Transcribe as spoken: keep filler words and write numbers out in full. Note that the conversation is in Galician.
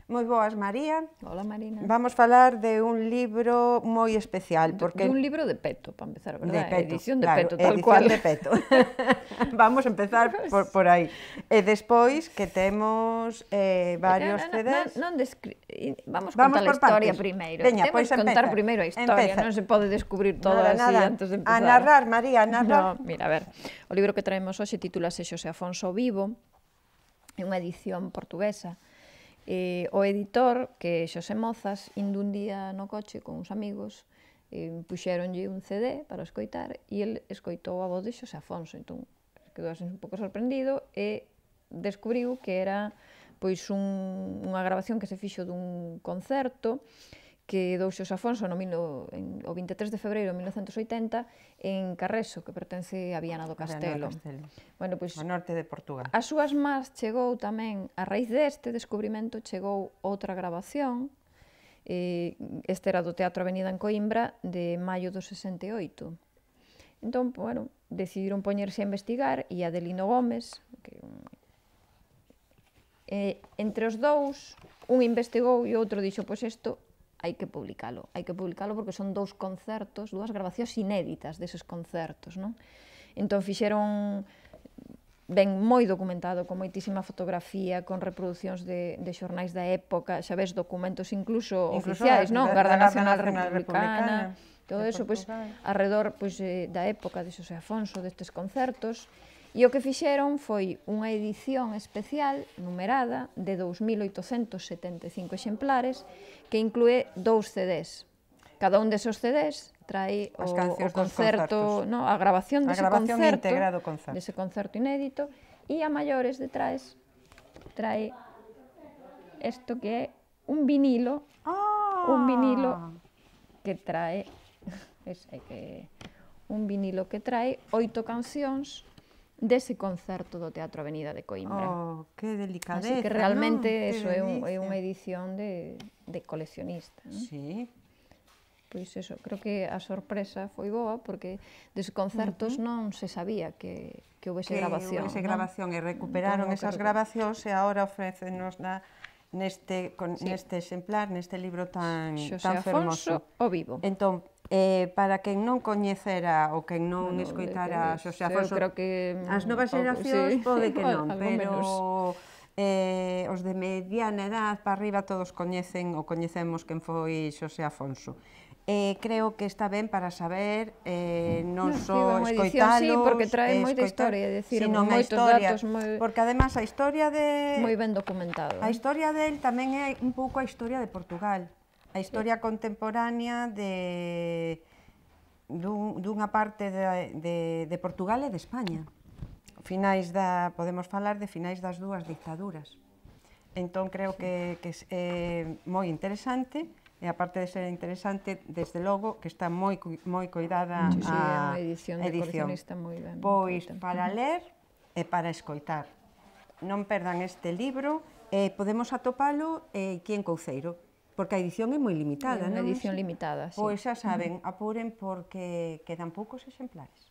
Moi boas, María. Hola, Marina. Vamos falar de un libro moi especial. Porque... De un libro de peto, para empezar, verdad? De peto, edición de claro, peto, tal edición cual. de peto. Vamos a empezar por, por aí. E despois que temos eh, varios no, no, C Ds... Non, non descri... Vamos, Vamos contar a historia partes. primeiro. Veña, Temos pois que contar empeza. primeiro a historia, Empeza. non se pode descubrir todo Nada, así nada. antes de empezar. A narrar, María, a narrar. No, mira, a ver, o libro que traemos hoxe titúlase Xosé Afonso Vivo, é unha edición portuguesa. Eh, o editor, que é Xosé Mozas, indo un día no coche con uns amigos, eh, puxéronlle un C D para escoitar e el escoitou a voz de Xosé Afonso, entón quedou así un pouco sorprendido e descubriu que era pois un, unha grabación que se fixo dun concerto que dou Xosé Afonso no, no, en, o vinte e tres de febreiro de mil novecentos e oitenta en Carreso, que pertence a Viana do Castelo. Castelo. Bueno, pois, ao norte de Portugal. As súas más chegou tamén, a raíz deste descubrimento, chegou outra grabación, eh, este era do Teatro Avenida en Coimbra, de maio do sesenta e oito. Entón, bueno, decidiron poñerse a investigar e Adelino Gómez, que eh, entre os dous, un investigou e outro dixo, pois isto hai que publicalo, hai que publicalo porque son dous concertos, dúas grabacións inéditas deses concertos, non? Entón fixeron, ben moi documentado, con moitísima fotografía, con reproduccións de, de xornais da época, xa ves, documentos incluso, incluso oficiais, non? Garda Nacional Republicana, todo eso, pois, arredor pois, da época de Xosé Afonso, destes concertos, e o que fixeron foi unha edición especial, numerada, de dous mil oitocentos setenta e cinco exemplares, que inclúe dous C Ds. Cada un desos C Ds trae o, o concerto, no, a grabación dese concerto, concerto, dese concerto inédito, e a maiores detrás trae isto que é un vinilo, ah. un vinilo que trae, es, que, un vinilo que trae oito cancións dese concerto do Teatro Avenida de Coimbra. Oh, que delicadeza, así que realmente ¿no? eso é, un, é unha edición de, de coleccionista, ¿no? Sí. Pois eso, creo que a sorpresa foi boa, porque des concertos uh -huh. non se sabía que, que houvese que grabación. Que houvese grabación, e recuperaron entón, esas grabacións e agora ofrécenos na, neste, con, sí. neste exemplar, neste libro tan, Xosé tan fermoso. Afonso o Vivo. Entón, eh, para quen non coñecera ou quen non bueno, escoitara que, Xosé Afonso, creo que as novas xeracións sí. pode que non, pero eh, os de mediana edad para arriba todos coñecen ou coñecemos quen foi Xosé Afonso. Eh, creo que está ben para saber eh, non só no, escoitalos, sí, porque trae moita historia, é dicir, moitos historia, datos moi... porque además a historia de... moi ben documentado. A historia del tamén é un pouco a historia de Portugal, a historia sí. contemporánea de dun, dunha parte de, de, de Portugal e de España. Finais da, podemos falar de finais das dúas dictaduras. Entón creo que, que é moi interesante. E aparte de ser interesante, desde logo, que está moi, moi cuidada sí, sí, a edición. De coleccionista moi ben. Pois para ler e para escoitar. Non perdan este libro, e podemos atopalo aquí en Couceiro, porque a edición é moi limitada, non? É unha edición limitada, sí. Pois xa saben, apuren porque quedan poucos exemplares.